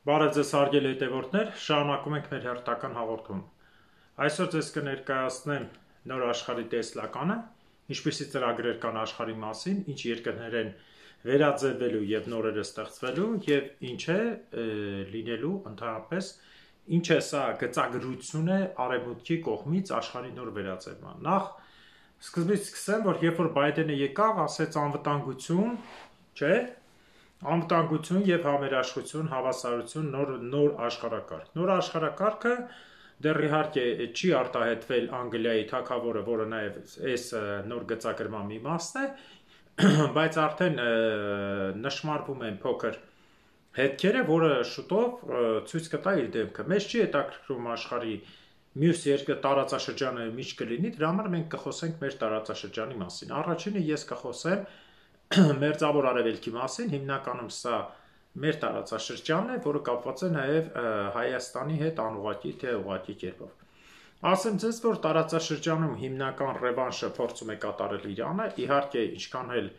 Բարև ձեզ հարգելի հետևորդներ, շարունակում ենք մեր հերթական հաղորդումը։ Այսօր ձեզ կներկայացնեմ նոր աշխարհի տեսլականը, ինչպիսի ծրագրեր կան աշխարհի մասին, ինչ երկրներ են վերաձևվելու եւ նորերը ստեղծվելու եւ ինչ է լինելու ընդհանրապես, ինչ է սա գծագրություն է արևմուտքի կողմից աշխարհի նոր վերաձևման։ Նախ սկզբից սկսեմ, որ երբ որ Բայդենը եկավ, ասեց անվտանգություն, չէ՞, անվտանգություն եւ համերաշխություն, հավասարություն, նոր աշխարհակարգ։ Նոր աշխարհակարգը դեռ իհարկե չի արտահայտվել Անգլիայի թագավորը, որը նաեւ այս նոր գծագրման մի մասն է, բայց արդեն նշмарվում են փոքր հետքերը, որը շուտով ցույց կտա իր դեմքը։ Մեզ չի հետաքրքրում աշխարհի մյուս երկրի տարածաշրջանը ինչ կլինի, դրա համար մենք կխոսենք մեր տարածաշրջանի մասին։ Առաջինը ես կխոսեմ Մերձավոր Արևելքի մասին, հիմնականում սա մեր տարածաշրջանն է, որը կապված է նաև Հայաստանի հետ անուղղակի թե ուղղակի կերպով։ Ասեմ ձեզ, որ տարածաշրջանում հիմնական ռևանշը փորձում է կատարել Իրանը, իհարկե ինչքան էլ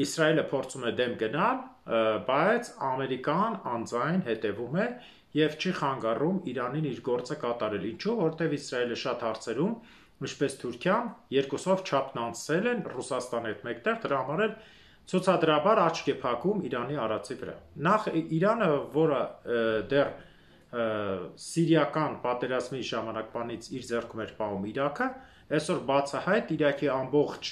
Իսրայելը փորձում է դեմ գնալ, բայց Ամերիկան անձայն հետևում է եւ չի խանգարում Իրանին իր գործը կատարել։ Ինչու՞, որտեղ Իսրայելը շատ հարցերում, ինչպես Թուրքիան, երկուսով չափն անցել են Ռուսաստանի հետ մեկտեղ, դրա համար էլ ցուցադրաբար աչք է փակում Իրանի արածի վրա։ Նախ Իրանը, որը դեռ սիրիական պատերազմի ժամանակվանից իր ձեռքում էր պահում Իրաքը, այսօր բացահայտ Իրաքի ամբողջ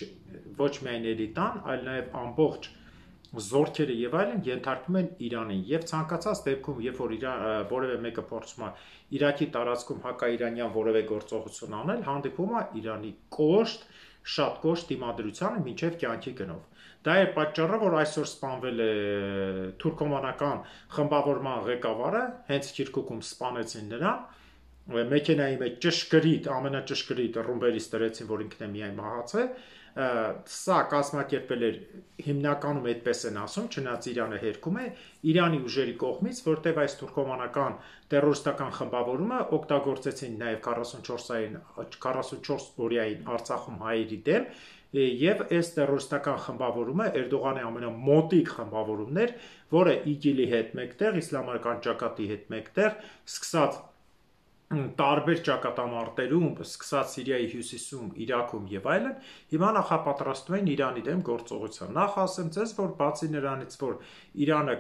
ոչ միայն էլիտան, այլ նաև ամբողջ զորքերը եւ այլն ենթարկվում են Իրանին եւ ցանկացած դեպքում, երբ որ որևէ մեկը փորձում է Իրաքի տարածքում հակաիրանյան որևէ գործողություն անել, հանդիպում է Իրանի կոշտ, շատ կոշտ դիմադրությանը մինչև կյանքի գնով։ Դա է պատճառը, որ այսօր սպանվել է թուրքոմանական խմբավորման ղեկավարը, հենց Քիրքուկում սպանեցին նրան, մեքենայի մեջ ճշգրիտ, ամենաճշգրիտ ռումբերից դրեցին, որ ինքն է միայն մահացել, սա կազմակերպել էր հիմնականում այդպես են ասում, չնայած Իրանը հերքում է Իրանի ուժերի կողմից, որտեղ այս թուրքոմանական տերորիստական խմբավորումը օգտագործեցին նաև 44 օրյային Արցախում հայերի դեմ, եւ այս տերորիստական խմբավորումը Էրդողանի ամենամոտիկ խմբավորումն էր, որը ԻԳԻԼ-ի հետ մեկտեղ, իսլամական ճակատի հետ մեկտեղ, սկսած տարբեր ճակատամարտերում, սկսած Սիրիայի հյուսիսում, Իրաքում եւ այլն, հիմա նախապատրաստում են Իրանի դեմ գործողության։ Նախ ասեմ ձեզ, որ բացի նրանից, որ Իրանը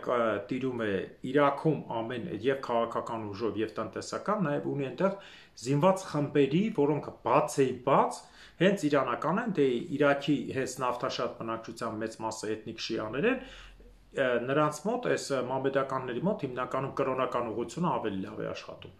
տիրում է Իրաքում ամեն եւ քաղաքական ուժով եւ տնտեսական, նաեւ ունի այնտեղ զինված խմբերի, որոնք բաց հենց իրանական են, դե Իրաքի հենց նավթաշատ բնակչության մեծ մասը էթնիկ շիաներ են, նրանց մոտ, այս մամեդականների մոտ հիմնականում կրոնական ուղղությունը ավելի լավ է աշխատում։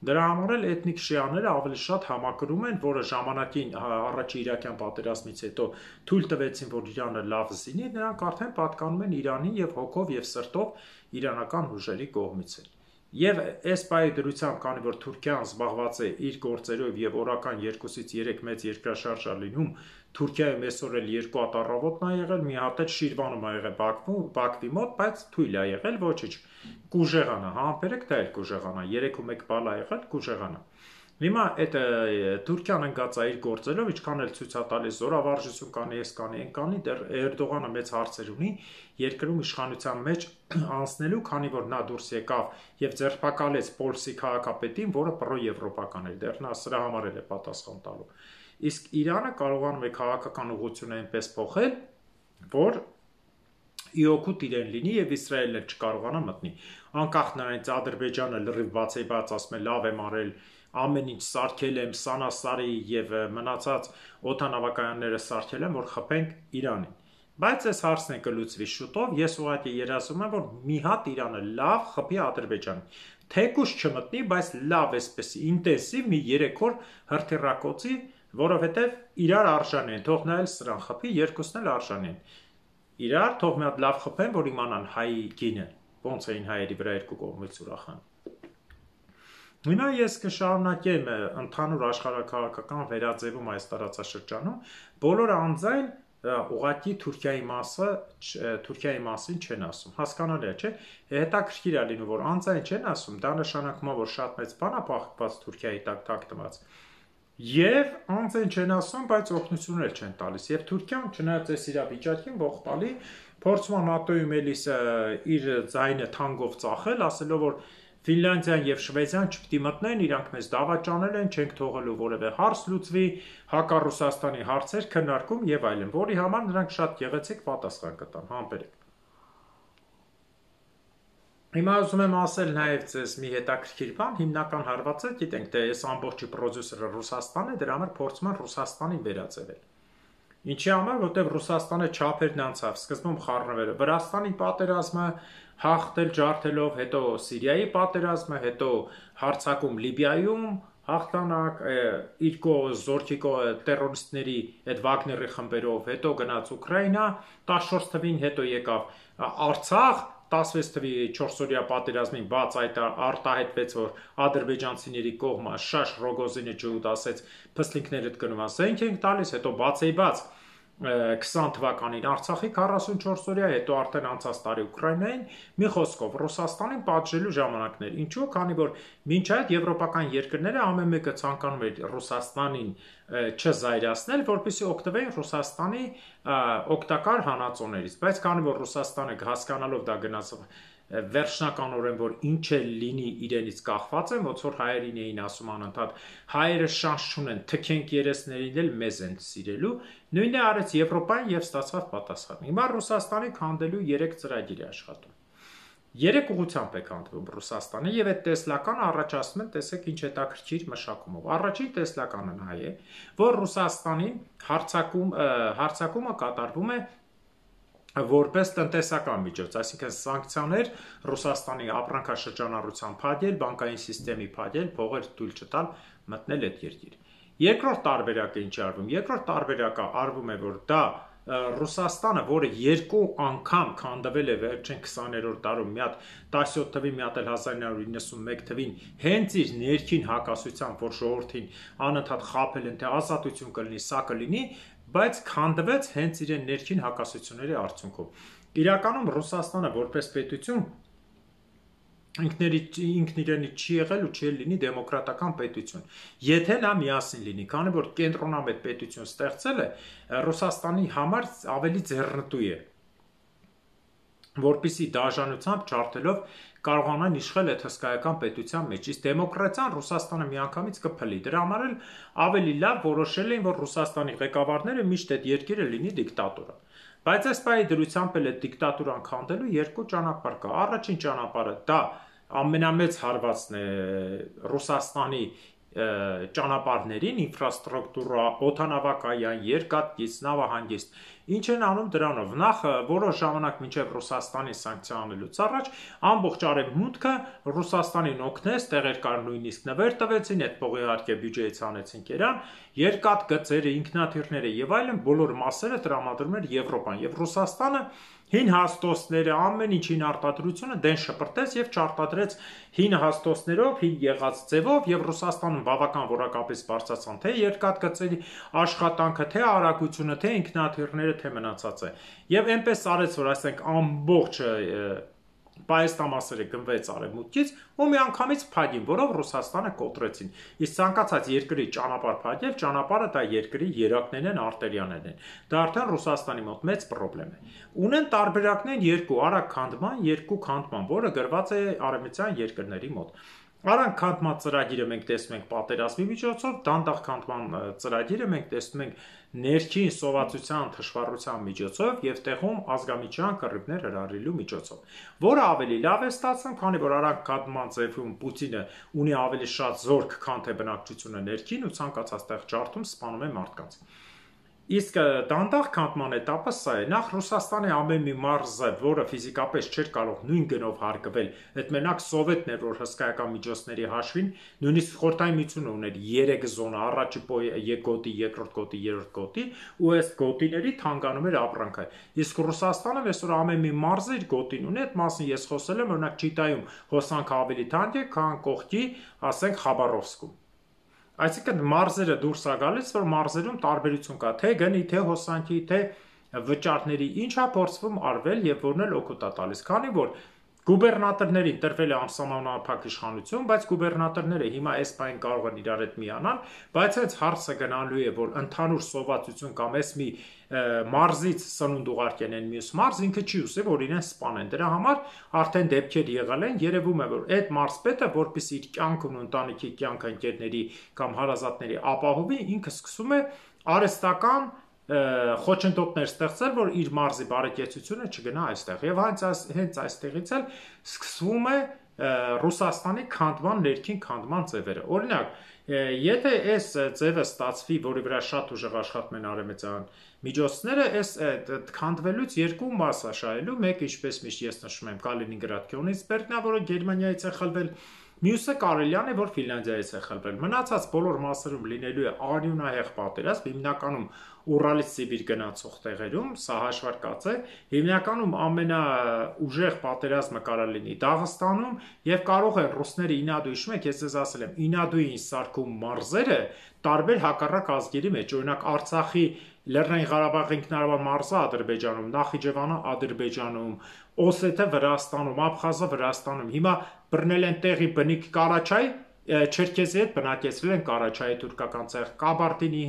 Դրա համար էլ էթնիկ շիաները ավելի շատ համակրում են, որը ժամանակին առաջի իրաքյան պատերազմից հետո թույլ տվեցին, որ Իրանը լավ զինի, նրանք արդեն պատկանում են Իրանին եւ հոգով եւ սրտով իրանական ուժերի կողմից են։ Եվ այս պահի դրությամբ, քանի որ Թուրքիան զբաղված է իր գործերով եւ օրական 2-ից 3 մեծ երկրաշարժ է լինում, Թուրքիայում այսօր էլ 2 հատ առավոտն է եղել, մի հատ էլ Շիրվանում է եղել Բաքվի մոտ, բայց թույլ է եղել, ոչինչ։ Կուժեղանա, համբերեք դա էլ կուժեղանա, 3-1 բալ է եղել, կուժեղանա։ Հիմա այդ Թուրքիան ընկած է իր գործերով, ինչքան էլ ցույց է տալիս զորավարժություն կանի, այս կանի, այն կանի, դեռ Էրդողանը մեծ հարցեր ունի երկրում իշխանության մեջ անցնելու, քանի որ նա դուրս եկավ եւ ձերբակալեց Պոլսի քաղաքապետին, որը պրոեվրոպական էր, դեռ նա սրա համար էլ է պատասխան տալու։ Իսկ Իրանը կարողանում է քաղաքական ուղղությունը այնպես փոխել, որ իօգուտ իրեն լինի եւ Իսրայելը չկարողանա մտնի։ Անկախ նրանից Ադրբեջանը լրիվ բացեբաց ասում է լավ եմ արել, ամեն ինչ սարքել եմ, Սանասարի եւ մնացած օդանավակայանները սարքել եմ, որ խփենք Իրանին։ Բայց այս հարցն է կլուծվի շուտով, ես ուղղակի երազում եմ, որ մի հատ Իրանը լավ խփի Ադրբեջանին։ Թեկուզ չմտնի, բայց լավ էսպես ինտենսիվ մի 3 օր հրթիռակոծի, որովհետեւ իրար արժան են, թող նա էլ սրան խփի, երկուսն էլ արժան են։ Իրար թող մի հատ լավ խփեն, որ իմանան հայի գինը, ոնց էին հայերի վրա երկու կողմից ուրախան։ Հիմա ես կշարունակեմ ընդհանուր աշխարհակաղակական վերաձևում այս տարածաշրջանում, բոլորը անձայն ուղղակի Թուրքիայի մասին չեն ասում, հասկանալի է, չէ՞։ Հետաքրքիր է լինում, որ անձայն չեն ասում, դա նշանակում է, որ շատ մեծ բան է փոխված Թուրքիայի տակ թաքնված։ Եվ անձեն չեն ասում, բայց օգնություն էլ չեն տալիս։ Եվ Թուրքիան, չնայած այս իրավիճակին ողբալի, փորձում է ՆԱՏՕ-ում էլիս իր ձայնը թանկով ծախել, ասելով, որ Ֆինլանդիան եւ Շվեդիան չպիտի մտնեն, իրանք մեզ դավաճանել են, չենք թողելու որևէ հարց լուծվի, հակառուսաստանի հարցեր քննարկում եւ այլն, որի համար նրանք շատ գեղեցիկ պատասխան կտան, համբերեք։ Հիմա ուզում եմ ասել նաև ձեզ մի հետաքրքիր բան, հիմնական հարվածը, գիտենք, թե այս ամբողջի պրոդյուսերը Ռուսաստանն է, դրա համար փորձում են Ռուսաստանին վերածել։ Ինչի համար, որտեղ Ռուսաստանը չափերն անցավ, սկզբում խառնվելը, Վրաստանի պատերազմը հաղթել ջարդելով, հետո Սիրիայի պատերազմը, հետո հարձակում Լիբիայում, հաղթանակ, իր զորքի տերորիստների այդ Վագների խմբերով, հետո գնաց Ուկրաինա, 14 թվին, հետո եկավ Արցախ, 16 թվի 4-օրյա պատերազմին բաց այդ արտահայտվեց, որ ադրբեջանցիների կողմը Շաշ Ռոգոզինը ջհուդ ասեց, փստինքներդ գնում ասենք ենք տալիս, հետո բաց 20 թվականին Արցախի 44-օրյա, հետո արդեն անցած տարի Ուկրաինային, մի խոսքով Ռուսաստանին պատժելու ժամանակներ։ Ինչու՞, քանի որ մինչ այդ եվրոպական երկրները ամեն մեկը ցանկանում էր Ռուսաստանին չզայրացնել, որպեսզի օգտվեին Ռուսաստանի օգտակար հանածոներից, բայց քանի որ Ռուսաստանը հասկանալով դա գնաց վերջնականորեն, որ ինչ է լինի իրենից կախված է, ոնց որ հայերին էին ասում անընդհատ, հայերը շանս չունեն, թքենք երեսներին էլ մեզ են սիրելու, նույնն է արեց Եվրոպան եւ ստացավ պատասխան։ Հիմա Ռուսաստանի քանդելու 3 ծրագիր է աշխատում։ 3 ուղղությամբ է քանդվում Ռուսաստանը եւ այդ տեսլականը առաջացնում են, տեսեք ինչ հետաքրքիր մշակումով։ Առաջին տեսլականը նա է, որ Ռուսաստանին հարձակումը կատարվում է որպես տնտեսական միջոց, այսինքն սանկցիաներ Ռուսաստանի ապրանքաշրջանառության փակել, բանկային սիստեմի փակել, փողեր թույլ չտալ մտնել այդ երկիր։ Երկրորդ տարբերակը ինչ արվում։ Երկրորդ տարբերակը արվում է, որ դա Ռուսաստանը, որը 2 անգամ քանդվել է վերջին 20-րդ դարում, մի հատ 17 թվին, մի հատ էլ 1991 թվին, հենց իր ներքին հակասությամբ, որ ժողովրդին անընդհատ խաբել են, թե ազատություն կլինի, սա կլինի, բայց քանդվեց հենց իրեն ներքին հակասությունների արդյունքով։ Իրականում Ռուսաստանը որպես պետություն ինքն իրենից չի եղել ու չի լինի դեմոկրատական պետություն։ Եթե նա միասին լինի, քանի որ կենտրոնամետ պետություն ստեղծել է, Ռուսաստանի համար ավելի ձեռնտու է, որպեսզի դաժանությամբ ջարդելով կարողանան իշխել այդ հսկայական պետության մեջ։ Իսկ դեմոկրատիան Ռուսաստանը միանգամից կփլի։ Դրա համար էլ ավելի լավ որոշել էին, որ Ռուսաստանի ղեկավարները միշտ այդ երկիրը լինի դիկտատուրա։ Բայց այս պահի դրությամբ էլ այդ դիկտատուրան քանդելու 2 ճանապարհ կա։ Առաջին ճանապարհը դա ամենամեծ հարվածն է Ռուսաստանի ճանապարհներին, ինֆրաստրուկտուրա, օդանավակայան, երկաթգիծ, նավահանգիստ։ Ինչ են անում դրանով։ Նախ որոշ ժամանակ մինչև Ռուսաստանի սանկցիա անելուց առաջ ամբողջ արևմուտքը Ռուսաստանին օգնեց, տեղեր կար նույնիսկ նվեր տվեցին, այդ փողի իհարկե բյուջեից անեցին կերան, երկաթգծերը, ինքնաթիռները եւ այլն բոլոր մասերը տրամադրում էր Եվրոպան եւ Ռուսաստանը հին հաստոցները, ամեն ինչին արտադրությունը դեն շպրտեց եւ չարտադրեց հին հաստոցներով, հին եղած ձևով եւ Ռուսաստանում բավական որակապես բարձրացան թե երկաթգծերի աշխատանքը, թե արագությունը, թե ինքնաթիռները, թե մնացածը։ Եվ այնպես արեց, որ ասենք ամբողջ պայեստամասերը գնվեց արևմուտքից ու միանգամից փակին, որով Ռուսաստանը կոտրեցին։ Իսկ ցանկացած երկրի ճանապարհ փակել, ճանապարհը դա երկրի երակներն են, արտերիաներն են։ Դա արդեն Ռուսաստանի մոտ մեծ խնդրեմ է։ Ունեն տարբերակներ 2՝ արագ քանդման, 2 քանդման, որը գրված է արևմտյան երկրների մոտ։ Արագ քանդման ծրագիրը մենք տեսնում ենք պատերազմի միջոցով, դանդաղ քանդման ծրագիրը մենք տեսնում ենք ներքին սովածության թշվառության միջոցով եւ տեղում ազգամիջյան կռիվներ հրահրելու միջոցով, որը ավելի լավ է ստացվում, քանի որ արագ քանդման ձևում Պուտինը ունի ավելի շատ զորք, քան թե բնակչությունը ներքին ու ցանկացած տեղ ջարդում սպանում է մարդկանց։ Իսկ դանդաղ քանդման этаպը սա է։ Նախ Ռուսաստանի ամեն մի մարզը, որը ֆիզիկապես չէր կարող նույն գնով հարգվել, այդ մենակ սովետն էր, որ հսկայական միջոցների հաշվին, նույնիսկ Խորհրդային Միությունը ուներ 3 զոնա, առաջի գոտի, երկրորդ գոտի, երրորդ գոտի, ու այս գոտիների թանգանում էր ապրանքը։ Իսկ Ռուսաստանը այսօր ամեն մի մարզը իր գոտին ունի, այդ մասին ես խոսել եմ, օրինակ Չիտայում հոսանքը ավելի թանկ է, քան կողքի, ասենք Խաբարովսկում։ Այսինքն մարզերը դուրս է գալիս, որ մարզերում տարբերություն կա, թե գնի, թե հոսանքի, թե վճարների, ինչա փորձվում արվել եւ որն էլ օգուտ է տալիս, քանի որ Գուբերնատորներին տրվել է անսահմանափակ իշխանություն, բայց գուբերնատորները հիմա այս բան կարող են իրար հետ միանալ, բայց այս հարցը գնալու է, որ ընդհանուր սովածություն կամ այս մի մարզից սնունդ ուղարկեն են մյուս մարզ, ինքը չի ուզի, որ իրեն սպանեն։ Դրա համար արդեն դեպքեր եղել են, երևում է, որ այդ մարզպետը, որպեսզի իր կյանքն ու ընտանիքի կյանքը ընկերների կամ հարազատների ապահովի, ինքը սկսում է արհեստական խոչընդոտներ ստեղծել, որ իր մարզի բարեկեցությունը չգնա այստեղ։ Եվ հենց այստեղից էլ սկսվում է Ռուսաստանի քանդման, ներքին քանդման ձևերը։ Օրինակ, եթե այս ձևը ստացվի, որի վրա շատ ուժեղ աշխատում են արևմտյան միջոցները, այս քանդվելուց երկու մաս է շահելու, մեկը, ինչպես միշտ ես նշում եմ, Կալինինգրադ Կյոնիցբերգն է, որը Գերմանիայից է խլվել, մյուսը Կարելյան է, որ Ֆինլանդիայից է խլվել։ Մնացած բոլոր մասերում լինելու է արյունահեղ պատերազմ, հիմնականում Ուրալից Սիբիր գնացող տեղերում, սա հաշվարկած է, հիմնականում ամենաուժեղ պատերազմը կարող լինի Դաղստանում, եւ կարող են ռուսները ինադու, հիշում եք, ես ձեզ ասել եմ, ինադուին սարքում մարզերը տարբեր հակառակ ազգերի մեջ, օրինակ Արցախի Լեռնային Ղարաբաղի ինքնարարական մարզը Ադրբեջանում, Նախիջևանը Ադրբեջանում, Օսեթը Վրաստանում, Աբխազը Վրաստանում, հիմա բռնել են տեղի բնիկ Կարաչայ, Չերքեզի հետ բնակեցրել են Կարաչայի թուրքական ցեղ, Կաբարդինի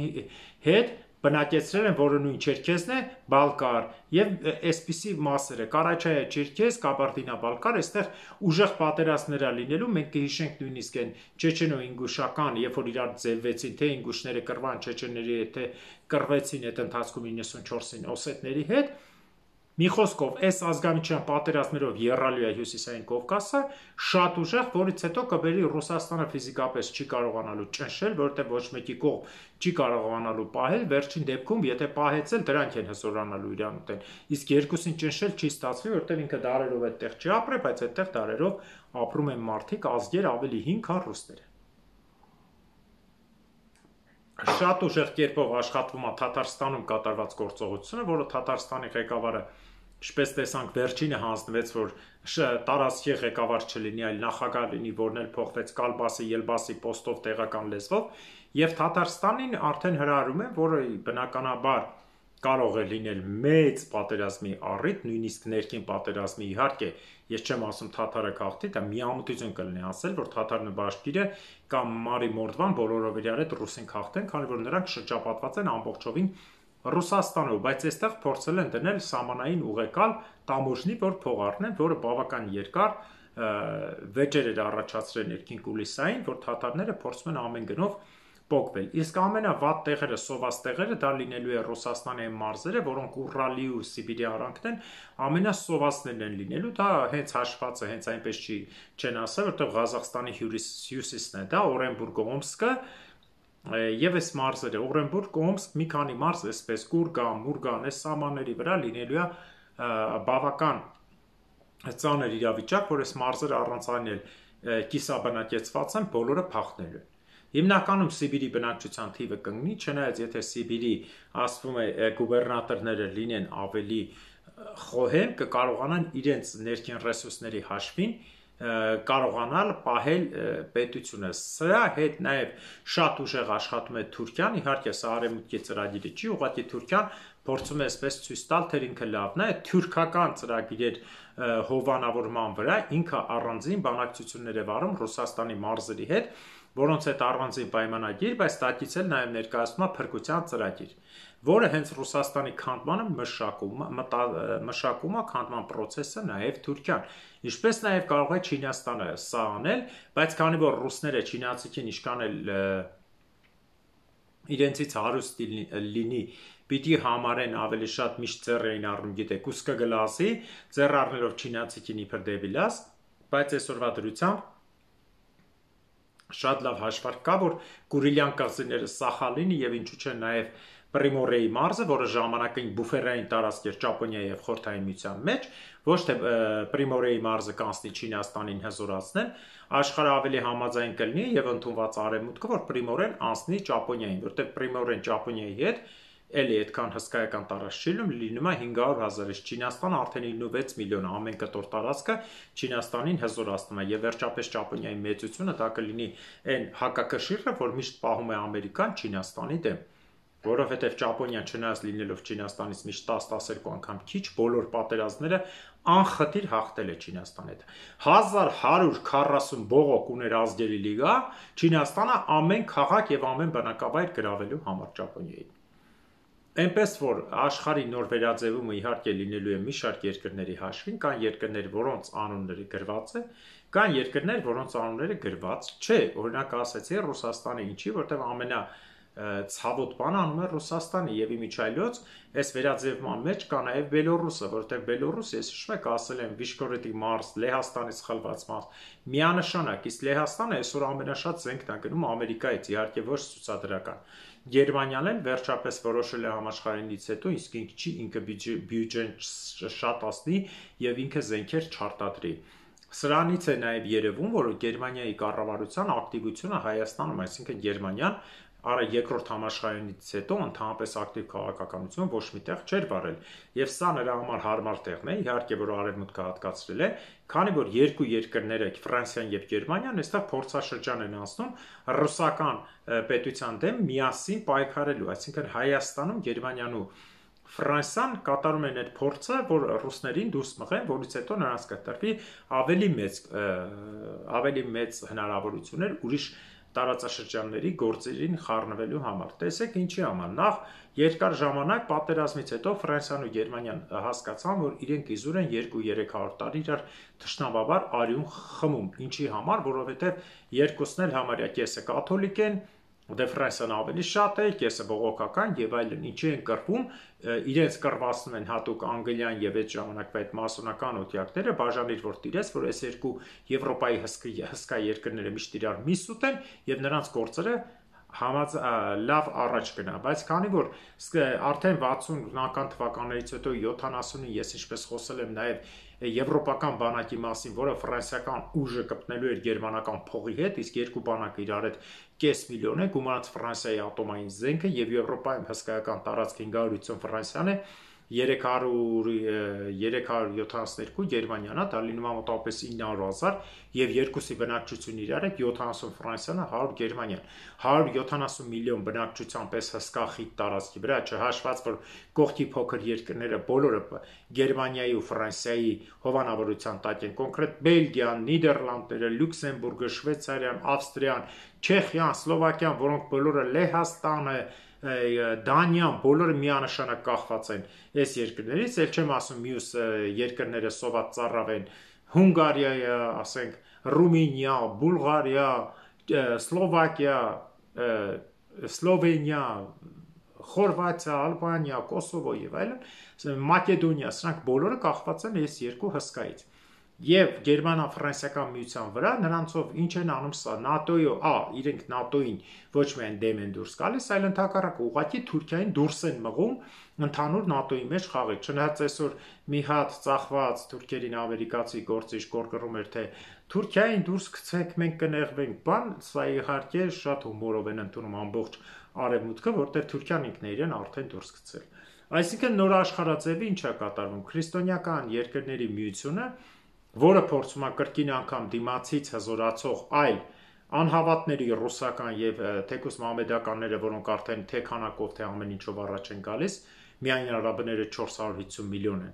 հետ բնակեցրել են, որը նույն Չերքեզն է, Բալկար, եւ այսպիսի մասերը, Կարաչայը, Չերքեզ, Կաբարդինա-Բալկար, այստեղ ուժեղ պատերազմներ է լինելու, մենք կհիշենք նույնիսկ այն չեչենո-ինգուշական, երբ որ իրար ձևվեցին, թե ինգուշները կռվան չեչենների հետ, թե կռվեցին այդ ընթացքում 94-ին օսետների հետ, մի խոսքով, այս ազգամիջյան պատերազմներով եռալու է Հյուսիսային Կովկասը, շատ ուժեղ, որից հետո կբերի Ռուսաստանը ֆիզիկապես չի կարողանալու ճնշել, որովհետև ոչ մեկի կողմ չի կարողանալու պահել, վերջին դեպքում, եթե պահեցել, դրանք են հզորանալու իրան ուտեն։ Իսկ երկուսին ճնշել չի ստացվի, որովհետև ինքը դարերով այդտեղ չի ապրել, բայց այդտեղ դարերով ապրում են մարդիկ, ազգեր ավելի հին, քան ռուսները։ Շատ ուժեղ կերպով աշխատվում է Թաթարստանում կատարված գործողությունը, որը Թաթարստանի ղեկավարը, ինչպես տեսանք, վերջինը հանձնվեց, որ տարածքի ղեկավար չլինի, այլ նախագահ լինի, որն էլ փոխվեց Կալբասի, Ելբասի պոստով տեղական լեզվով, եւ Թաթարստանին արդեն հրահրում են, որը բնականաբար կարող է լինել մեծ պատերազմի առիթ, նույնիսկ ներքին պատերազմի, իհարկե, ես չեմ ասում թաթարը գաղթի, դա միամտություն կլինի ասել, որ թաթարն բաշկիրը կամ Մարի Մորդվան բոլորով իրար հետ ռուսին քաղթեն, քանի որ նրանք շրջապատված են ամբողջովին Ռուսաստանով, բայց այստեղ փորձել են դնել սահմանային ուղեկալ տամոժնի, որ փող առնեն, որը բավական երկար վեճեր էր առաջացրել ներքին կուլիսային, որ թաթարները փորձում են ամեն գնով պոկվել։ Իսկ ամենավատ տեղերը, սոված տեղերը դա լինելու է Ռուսաստանի այն մարզերը, որոնք Ուրալի ու Սիբիրի արանքն են, ամենասովածներն են լինելու, դա հենց հաշված է, հենց այնպես չեն ասել, որտեղ Ղազախստանի հյուսիսն է, դա Օրենբուրգ, Օմսկը եւ այս մարզերը, Օրենբուրգ, Օմսկ, մի քանի մարզ, այսպես Կուրգան, Մուրգան, այս սահմանների վրա լինելու է բավական ծանր իրավիճակ, որ այս մարզերը առանց անել կիսաբնակեցված են, բոլորը փախնելու են։ Հիմնականում Սիբիրի բնակչության թիվը կընկնի, չնայած եթե Սիբիրի ասվում է գուբերնատորները լինեն ավելի խոհեմ, կկարողանան իրենց ներքին ռեսուրսների հաշվին կարողանալ պահել պետությունը։ Սրա հետ նաև շատ ուժեղ աշխատում է Թուրքիան, իհարկե սա արևմուտքի ծրագիրը չի, ուղղակի Թուրքիան փորձում է այսպես ցույց տալ, թե ինքը լավն է, թուրքական ծրագիրեր հովանավորման վրա ինքը առանձին բանակցություններ է վարում Ռուսաստանի մարզերի հետ, որոնց հետ առանձին պայմանագիր, բայց տակից էլ նաև ներկայացնում է փրկության ծրագիր, որը հենց Ռուսաստանի քանդմանը մշակում է քանդման process-ը նաև Թուրքիան, ինչպես նաև կարող է Չինաստանը սա անել, բայց քանի որ ռուսները չինացիքին ինչքան էլ իրենցից հարուստ լինի, պիտի համարեն ավելի շատ միշտ ձեռ էին առնում, գիտեք, ուսկը գլասի, ձեռ առնելով չինացիքին իբր դեպի լաս, բայց այսօրվա դրությամբ շատ լավ հաշվարկ կա, որ Կուրիլյան կղզիները Սախալինի եւ ինչու՞ չէ նաեւ Պրիմորեի մարզը, որը ժամանակին բուֆերային տարածք էր Ճապոնիայի եւ Խորհրդային Միության մեջ, ոչ թե Պրիմորեի մարզը կանցնի Չինաստանին հզորացնել, աշխարհը ավելի համաձայն կլինի եւ ընդունված արևմուտքը, որ Պրիմորեն անցնի Ճապոնիային, որտեղ Պրիմորեն Ճապոնիայի հետ էլի այդքան հսկայական տարածք չի լինում է 500,000-ից, Չինաստանը արդեն 96 միլիոն, ամեն կտոր տարածքը Չինաստանին հզորացնում է եւ վերջապես Ճապոնիայի մեծությունը դա կլինի այն հակակշիռը, որ միշտ պահում է Ամերիկան Չինաստանի դեմ։ որովհետև Ճապոնիան չնայած լինելով Չինաստանից միշտ 10-12 անգամ քիչ, բոլոր պատերազմները անխտիր հաղթել է Չինաստանի հետ։ 1140 բողոք ուներ ազգերի լիգա Չինաստանը ամեն քաղաք եւ ամեն բնակավայր գրավելու համար Ճապոնիային։ Այնպես որ աշխարհի նոր վերաձևումը իհարկե լինելու է մի շարք երկրների հաշվին, կան երկրներ, որոնց անունները գրված է, կան երկրներ, որոնց անունները գրված չէ։ Օրինակ ասեցի Ռուսաստանը ինչի, որտեղ ամենա ցավոտ բանը անում է Ռուսաստանը եւ իմիջայլոց այս վերաձևման մեջ կա նաեւ Բելոռուսը, որտեղ Բելոռուսը, ես հիշում եք, ասել եմ Վիշկորետի Մարս, Լեհաստանից խլված Մարս, միանշանակ, իսկ Լեհաստանը այսօր ամենաշատ զենքն է գնում Ամերիկայից, իհարկե ոչ ցուցադրական։ Գերմանիան էլ վերջապես որոշել է համաշխարհայինից հետո իսկ ինքը բյուջեն շատացնի եւ ինքը զենքեր չարտադրի։ Սրանից է նաև երևում, որ Գերմանիայի կառավարության ակտիվությունը Հայաստանում, այսինքն Գերմանիան երկրորդ համաշխարհայինից հետո ընդհանրապես ակտիվ քաղաքականություն ոչ մի տեղ չէր վարել։ Եվ սա նրա համար հարմար տեղն է, իհարկե, որ արևմուտքը հատկացրել է, քանի որ երկու երկրները, Ֆրանսիան եւ Գերմանիան, այստեղ փորձաշրջան են անցնում ռուսական պետության դեմ միասին պայքարելու, այսինքն Հայաստանում Գերմանիան ու Ֆրանսիան կատարում են այդ փորձը, որ ռուսներին դուրս մղեն, որից հետո նրանց կտրվի ավելի մեծ հնարավորություններ ուրիշ տարածաշրջանների գործերին խառնվելու համար։ Տեսեք ինչի համար։ Նախ երկար ժամանակ պատերազմից հետո Ֆրանսիան ու Գերմանիան հասկացան, որ իրենք իզուր են 2-300 տարի իրար թշնամաբար արյուն խմում։ Ինչի համար, որովհետև երկուսն էլ համարյա կեսը կաթոլիկ են, դե Ֆրանսիան ավելի շատ է, կեսը բողոքական եւ այլն, ինչի են կռվում, իրենց կռվածնում են հատուկ անգլիան եւ այդ ժամանակվա այդ մասոնական օթյակները, բաժանիր որ տիրես, որ այս երկու Եվրոպայի հսկա երկրները միշտ իրար միս ուտեն եւ նրանց գործերը լավ առաջ գնա, բայց քանի որ արդեն 60-ական թվականներից հետո 70-ին ես ինչպես խոսել եմ նաև եվրոպական բանակի մասին, որը ֆրանսիական ուժը կպտնելու էր գերմանական փողի հետ, իսկ երկու բանակը իրար հետ կես միլիոն է, գումարած Ֆրանսիայի ատոմային զենքը եւ Եվրոպայում հսկայական տարածք 550 Ֆրանսիան է, 372 Գերմանիան, դա լինում է մոտավորապես 900,000 եւ երկուսի բնակչությունը իրար հետ 70 Ֆրանսիան, 100 Գերմանիան, 170 միլիոն բնակչության պես հսկա խիտ տարածքի վրա, չհաշված որ կողքի փոքր երկրները բոլորը Գերմանիայի ու Ֆրանսիայի հովանավորության տակ են, կոնկրետ Բելգիան, Նիդերլանդները, Լյուքսեմբուրգը, Շվեյցարիան, Ավստրիան, Չեխիան, Սլովակիան, որոնք բոլորը Լեհաստանը, Դանիան, բոլորը միանշանակ կախված են այս երկրներից, էլ չեմ ասում մյուս երկրները սոված ծառավ են, Հունգարիա, ասենք, Ռումինիա, Բուլղարիա, Սլովակիա, Սլովենիա, Խորվաթիա, Ալբանիա, Կոսովո եւ այլն, Մակեդոնիա, սրանք բոլորը կախված են այս երկու հսկայից։ Եվ Գերմանա-ֆրանսիական միության վրա նրանցով ինչ են անում սա իրենք ՆԱՏՕ-ին ոչ միայն դեմ են դուրս գալիս, այլ ընդհակառակը ուղղակի Թուրքիային դուրս են մղում ընդհանուր ՆԱՏՕ-ի մեջ խաղի։ Չնայած այսօր մի հատ ծախված թուրքերին ամերիկացի գործիչ կորկռում էր, թե Թուրքիային դուրս գցեք, մենք կնեղվենք, բան, սա իհարկե շատ հումորով են ընդունում ամբողջ արևմուտքը, որտեղ Թուրքիան ինքն է իրեն արդեն դուրս գցել։ Այսինքն նոր աշխարհաձևի ինչ է կատարվում։ Քրիստոնեական երկրների միությունը, որը փորձում է կրկին անգամ դիմացից հզորացող այլ անհավատների ռուսական եւ թեկուս մամեդականները, որոնք արդեն թե քանակով թե ամեն ինչով առաջ են գալիս, միայն արաբները 450 միլիոն են,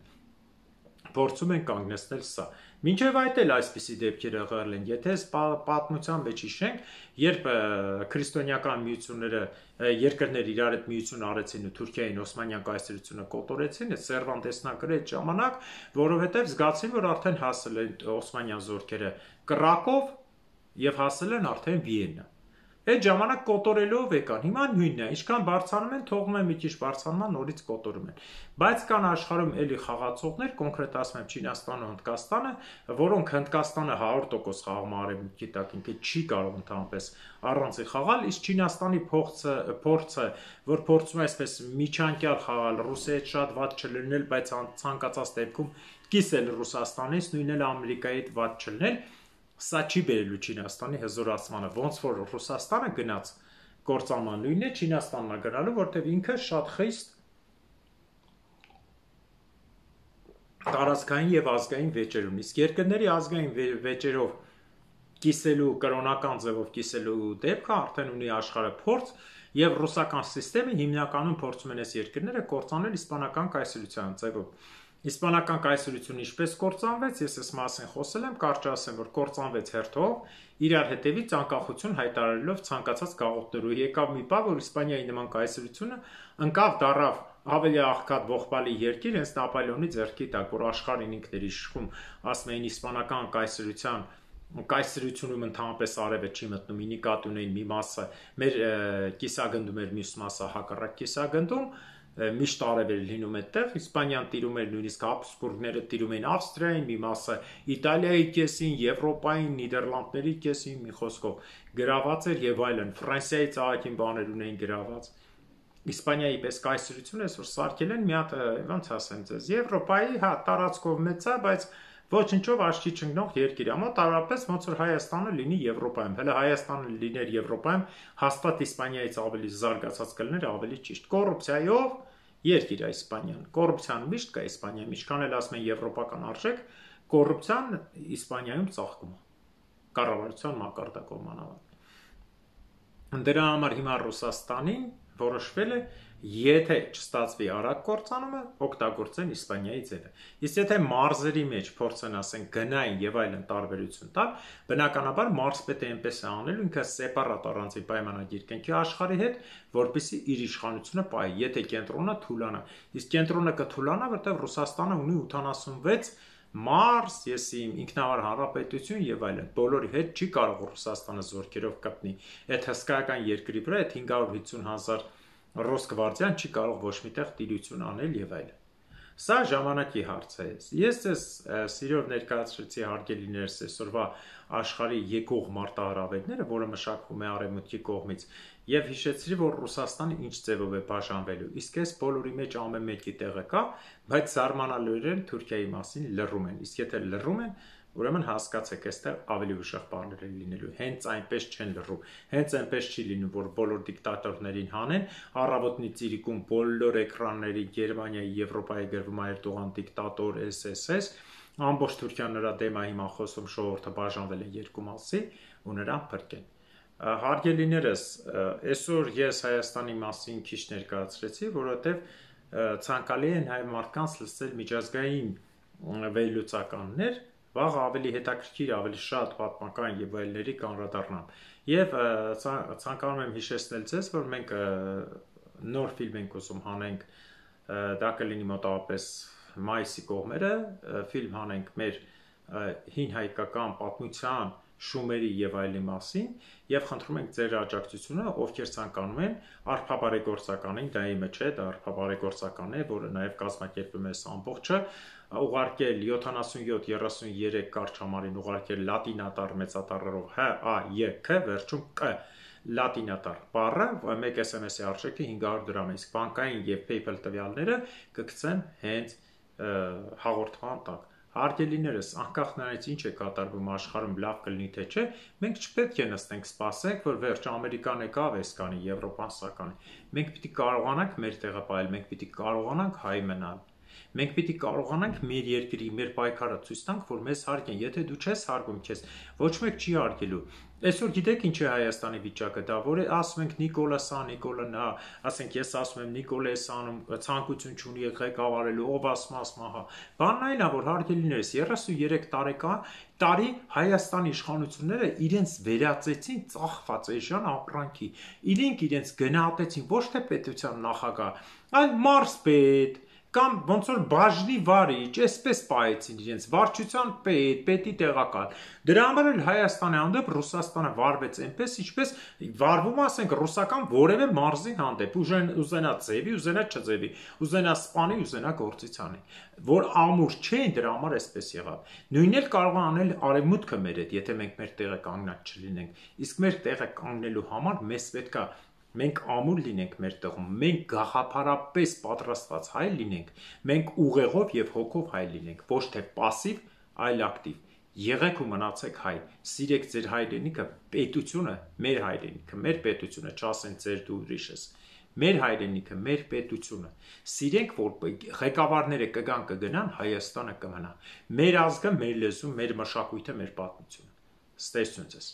փորձում են կանգնեցնել սա։ Մինչև այդ էլ այսպիսի դեպքեր եղել են, եթե պատմության մեջ հիշենք, երբ քրիստոնեական միությունները երկրներ իրար հետ միություն արեցին ու Թուրքիային Օսմանյան կայսրությունը կոտորեցին, այդ Սերվանտեսն գրել այդ ժամանակ, որովհետև զգացին, որ արդեն հասել են Օսմանյան զորքերը Կրակով եւ հասել են արդեն Վիեննա։ Այդ ժամանակ կոտորելով եկան, հիմա նույնն է, ինչքան բարձրանում են, թողնում են մի քիչ բարձրանան, նորից կոտորում են։ Բայց կան աշխարհում էլի խաղացողներ, կոնկրետ ասում եմ Չինաստանը, Հնդկաստանը, որոնք Հնդկաստանը 100% խաղում արևմուտքի տակ, ինքը չի կարող ընդհանրապես առանցի խաղալ, իսկ Չինաստանի փորձը, որ փորձում է այսպես միջանկյալ խաղալ, Ռուսիայի հետ շատ վատ չլինել, բայց ցանկացած դեպքում կիսել Ռուսաստանից, նույնն էլ Ամերիկայի հետ վատ չլինել, սա չի բերելու Չինաստանի հզորացմանը, ոնց որ Ռուսաստանը գնաց կործանման նույնն է Չինաստանն է գնալու, որտեղ ինքը շատ խիստ տարածքային եւ ազգային վեճեր ունի։ Իսկ երկրների ազգային վեճերով կիսելու կրոնական ձևով կիսելու դեպքը արդեն ունի աշխարհը փորձ եւ ռուսական համակարգը հիմնականում փորձում են այս երկրները կործանել իսպանական կայսրության ձևով։ Իսպանական կայսրությունը ինչպես կործանվեց, ես այս մասին խոսել եմ, կարճ ասեմ, որ կործանվեց հերթով, իրար հետևից անկախություն հայտարարելով ցանկացած գաղութներով։ Եկավ մի պահ, որ Իսպանիայի նման կայսրությունը ընկավ դարավ ավելի աղքատ ողբալի երկիր, հենց Նապոլեոնի ձեռքի տակ, որ աշխարհին ինքն էր իշխում, ասում էին իսպանական կայսրությունում ընդհանրապես արևը չի մտնում, ի նկատի ունեին մի մասը մեր կիսագնդում էր, մյուս մասը հակառակ կիսագնդում, միշտ արև էր լինում այդտեղ, Իսպանիան տիրում էր, նույնիսկ Հաբսբուրգները տիրում էին Ավստրիային, մի մասը Իտալիայի կեսին, Եվրոպային, Նիդերլանդների կեսին, մի խոսքով գրաված էր եւ այլն, Ֆրանսիայի ծաղիկին բաներ ունեին գրաված։ Իսպանիայի պես կայսրությունը այսօր սարքել են մի հատ, ոնց ասեմ ձեզ, Եվրոպայի, հա, տարածքով մեծ է, բայց ոչնչով աչքի չընկնող երկիր է, մոտավորապես ոնց որ Հայաստանը լինի Եվրոպայում, հələ Հայաստանը լիներ Եվրոպայում, հաստատ Իսպանիայից ավելի զարգացած կլիներ, ավելի ճիշտ։ Կոռուպցիայով երկիր է Իսպանիան։ Կոռուպցիան միշտ կա Իսպանիայում, ինչքան էլ ասում են եվրոպական արժեք, կոռուպցիան Իսպանիայում ծաղկում է։ Կառավարության մակարդակով մանավանդ։ Դրա համար հիմա Ռուսաստանին որոշվել է, եթե չստացվի արագ կործանումը, օգտագործեն Իսպանիայի ձևը։ Իսկ եթե մարզերի մեջ փորձեն ասեն գնային եւ այլն տարբերություն տալ, բնականաբար մարզպետը այնպես է անելու, ինքը սեպարատ առանձին պայմանագիր կնքի աշխարհի հետ, որպեսզի իր իշխանությունը պահի, եթե կենտրոնը թուլանա։ Իսկ կենտրոնը կթուլանա, որտեղ Ռուսաստանը ունի 86 մարզ, ինքնավար հանրապետություն եւ այլն։ Բոլորի հետ չի կարող Ռուսաստանը զորքերով կպնի։ Այդ հսկայական երկրի վրա այդ 550,000 ռուս գվարդիան չի կարող ոչ միտեղ տիրություն անել եւ այլն։ Սա ժամանակի հարց է։ Ես ձեզ սիրով ներկայացրեցի հարգելիներս այսօրվա աշխարհի եկող մարտահրավերները, որը մշակվում է արևմուտքի կողմից, եւ հիշեցրի, որ Ռուսաստանը ինչ ձևով է բաժանվելու։ Իսկ այս բոլորի մեջ ամեն մեկի տեղը կա, բայց զարմանալիորեն Թուրքիայի մասին լռում են։ Իսկ եթե լռում են, ուրեմն հասկացեք, այստեղ ավելի ուժեղ բաներ են լինելու։ Հենց այնպես չեն լռում։ Հենց այնպես չի լինում, որ բոլոր դիկտատորներին հանեն, առավոտնի ծիրիկում բոլոր էկրանների Գերմանիայի, Եվրոպայի գրվում է Էրդողան դիկտատոր, SSS, ամբողջ Թուրքիան նրա դեմ է հիմա խոսում, ժողովուրդը բաժանվել է երկու մասի ու նրան փրկեն։ Հարգելիներս, այսօր ես Հայաստանի մասին քիչ ներկայացրեցի, որովհետև ցանկալի է նաև մարդկանց լսել միջազգային վերլուծականներ, վաղ ավելի հետաքրքիր, ավելի շատ պատմական եւ այլների կանրադառնամ։ Եվ ցանկանում եմ հիշեցնել ձեզ, որ մենք նոր ֆիլմ ենք ուզում հանենք, դա կլինի մոտավորապես մայիսի կողմերը, ֆիլմ հանենք մեր հին հայկական պատմության շումերի եւ այլի մասին եւ խնդրում ենք ձեր աջակցությունը, ովքեր ցանկանում են արփաբարեգործականին, դա իմը չէ, դա արփաբարեգործական է, որը նաեւ կազմակերպում է ամբողջը, ուղարկել 7733 կարճ համարին ուղարկել լատինատար մեծատառերով HAYK վերջում Q լատինատար բառը, մեկ SMS-ի արժեքը 500 դրամ է, իսկ բանկային եւ PayPal տվյալները կգցեն հենց հաղորդման տակ։ Հարգելիներս, անկախ նրանից ինչ է կատարվում աշխարհում, լավ կլինի թե չէ, մենք չպետք է նստենք սպասենք, որ վերջ Ամերիկան եկավ, էս կանի, Եվրոպան սա կանի։ Մենք պիտի կարողանանք մեր տեղը պահել, մենք պիտի կարողանանք հայ մնալ։ Մենք պիտի կարողանանք մեր երկրի, մեր պայքարը ցույց տանք, որ մեզ հարգեն։ Եթե դու չես հարգում քեզ, ոչ մեկ չի հարգելու։ Այսօր գիտեք ինչ է Հայաստանի վիճակը, դա որ է ասում ենք Նիկոլաս ա, Նիկոլան ա, ասենք ես ասում եմ Նիկոլես անում, ցանկություն չունի ղեկավարելու, ով ասում հա։ Բանն այն է, որ հարգելիներս 33 տարի Հայաստանի իշխանությունները իրենց վերածեցին ծախված էժան ապրանքի։ Իրենք իրենց գնահատեցին ոչ թե պետության նախագահ, այլ մարզպետ կամ ոնց որ բաժնի վարիչ, այսպես պահեցին իրենց վարչության պետ, պետի տեղակալ։ Դրա համար էլ Հայաստանի հանդեպ Ռուսաստանը վարվեց այնպես, ինչպես վարվում ասենք ռուսական որևէ մարզի հանդեպ, ուզենա ձևի, ուզենա չձևի, ուզենա սպանի, ուզենա գործիցանի, որ ամուր չէին, դրա համար այսպես եղավ։ Նույնն էլ կարող է անել արևմուտքը մեր հետ, եթե մենք մեր տեղը կանգնած չլինենք։ Իսկ մեր տեղը կանգնելու համար մեզ պետք է մենք ամուր լինենք մեր տեղում, մենք գաղափարապես պատրաստված հայ լինենք, մենք ուղեղով եւ հոգով հայ լինենք, ոչ թե պասիվ, այլ ակտիվ։ Եղեք ու մնացեք հայ, սիրեք ձեր հայրենիքը, պետությունը, մեր հայրենիքը, մեր պետությունը, չասեն ձեր դու ուրիշ ես, մեր հայրենիքը, մեր պետությունը։ Սիրենք, որ ղեկավարները կգան կգնան, Հայաստանը կմնա։ Մեր ազգը, մեր լեզուն, մեր մշակույթը, մեր պատմությունը։ Ստեսություն ձեզ։